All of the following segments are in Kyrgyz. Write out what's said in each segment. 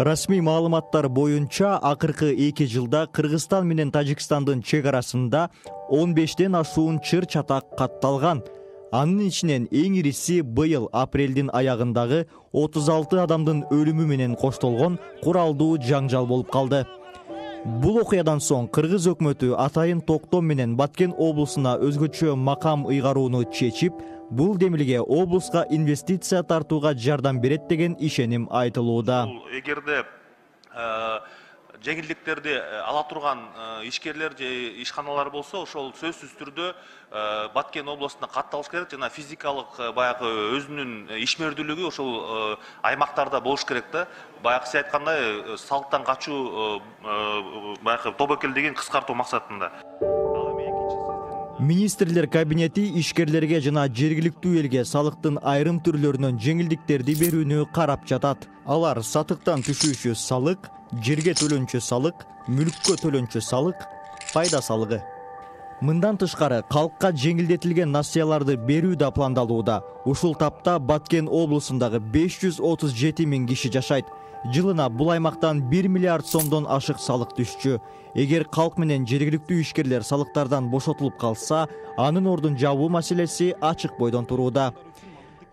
Расмий маалыматтар боюнча акыркы 2 жылда Кыргызстан менен Тажикстандын чек арасында 15ден ашуун чыр-чатак катталган. Анын ичинен эң ириси быйыл апрелдин аягындагы 36 адамдын өлүмү менен коштолгон куралдуу жаңжал болуп калды. Бул окуядан соң Кыргыз өкмөтү атайын токтом менен Баткен облусуна өзгөчө макам ыйгарууну чечип, бул демилге облуска инвестиция тартууга жардам берет деген ишеним айтылууда. Эгерде жеңилдиктерди ала турган ишкерлер же ишканалар болсо, ошол сөзсүз түрдө Баткен областына катталыш керек жана физикалык баягы өзүнүн ишмердүүлүгү ошол аймактарда болуш керек да. Баягы сиз айткандай салыктан качуу баягы тобокелдигин кыскартуу максатында. Министрлер кабинети ишкерлерге жана жергиликтүү элге салыктын айрым түрлөрүнөн жеңилдиктерди берүүнү карап жатат. Алар сатыктан түшүүчү салык, жерге төлөнчү салык, мүлккө төлөнчү салык, пайда салыгы. Мындан тышкары калкка жеңилдетилген насыяларды берүү да пландалууда. Ушул тапта Баткен облусундагы 537 000 киши жашайт. Жылына бул аймактан 1 миллиард сомдон ашык салык түшчү. Эгер калк менен жергиликтүү ишкерлер салыктардан бошотулуп калса, анын ордун жабуу маселеси ачык бойдон турууда.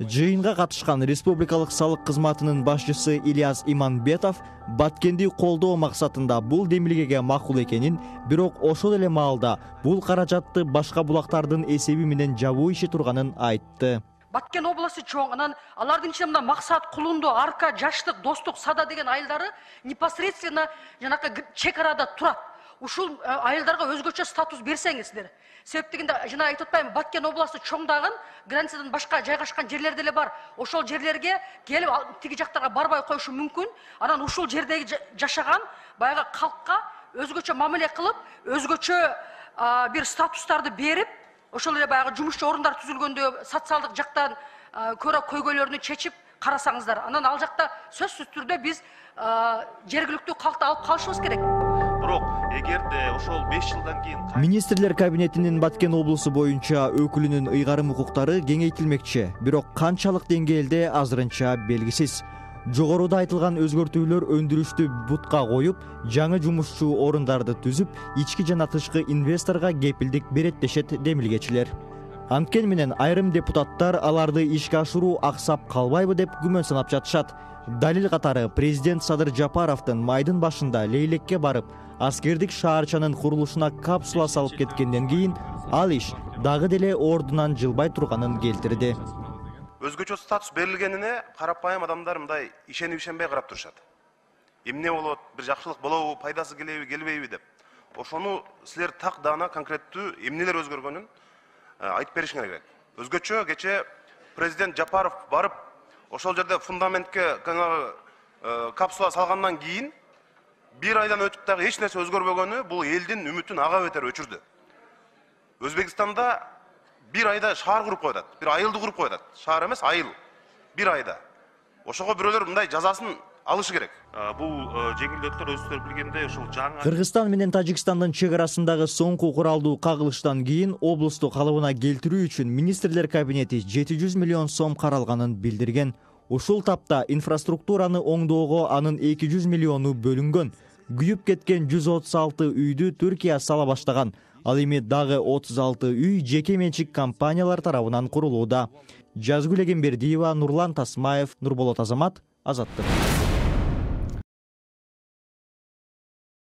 Жыйынга катышкан республикалык салык кызматынын башчысы Ильяс Иманбетов Баткенди колдоо максатында бул демилгеге макул экенин, бирок ошол эле маалда бул каражатты башка булактардын эсеби менен жабуу иши турганын айтты. Баткен областы чоң, анан алардын ичинде мына Максат, Кулунду, Арка, Жаштык, Достук, Сада деген айылдары непосредственно жанакы чек арада турат. Ушул айылдарга өзгөчө статус берсеңиздер. Себеп дегенде жана айтып атпайбы, Баткен областы чоңдагын границадан башка жайгашкан жерлер деле бар. Ошол жерлерге келип тиги жактарга барбай коюшу мүмкүн. Анан ушул жердеги жашаган баягы калкка өзгөчө мамиле кылып, өзгөчө бир статустарды берип, ошол эле баягы жумушчу орундар түзүлгөндө социалдык жактан көрө көйгөйлөрүнү чечип карасаңыздар. Анан ал жакта сөзсүз түрдө биз жергиликтүү калкты алып калышыбыз керек. Бирок эгерде ошол 5 жылдан кийин Министрлер кабинетинин Баткен облусу боюнча өкүлүнүн ыйгарым укуктары кеңейтилмекчи, бирок канчалык деңгээлде азырынча белгисиз. Жогоруда айтылган өзгөртүүлөр өндүрүштү бутка коюп, жаңы жумушчу орундарды түзүп, ички жана тышкы инвесторго кепилдик берет дешет демилгечилер. Анткени менен айрым депутаттар аларды ишке ашыруу аксап калбайбы деп күмөн санап жатышат. Далил катары президент Садыр Жапаровдун майдын башында Лейлекке барып, аскердик шаарчанын курулушуна капсула салып кеткенден кийин ал иш дагы деле ордунан жылбай турганын келтирди. Өзгөчө статус берилгенине карапайым адамдар мындай ишенбей карап турушат. Эмне болот, бир жакшылык болобу, пайдасы келеби, келбейби деп. Ошону силер так даана конкреттүү эмнелер өзгөргөнүн айтып беришиңер керек. Өзгөчө кече президент Жапаров барып, ошол жерде фундаментке капсула салгандан кийин бир айдан өтүп дагы эч нерсе өзгөрбөгөнү бул элдин үмүтүн ага бетер өчүрдү. Өзбекстанда бир айда шаар куруп коюп атат. Бир айылды куруп коюп атат. Шаар эмес, айыл. Бир айда. Ошого бирөөлөр мындай жазасын алышы керек. Бул жеңилдеттер өзүлөр билгендей ошол жаңы Кыргызстан менен Тажикстандын чек арасындагы соңку куралдуу кагылыштан кийин облусту калыбына келтирүү үчүн министрлер кабинети 700 миллион сом каралганын билдирген. Ушул тапта инфраструктураны оңдоого анын 200 миллиону бөлүнгөн. Күйүп кеткен 136 үйдү Түркия сала баштаган. Ал эми дагы 36 үй жеке менчик компаниялар тарабынан курулууда. Жазгүл Эгембердиева, Нурлан Тасмаев, Нурболот Азамат, Азаттык.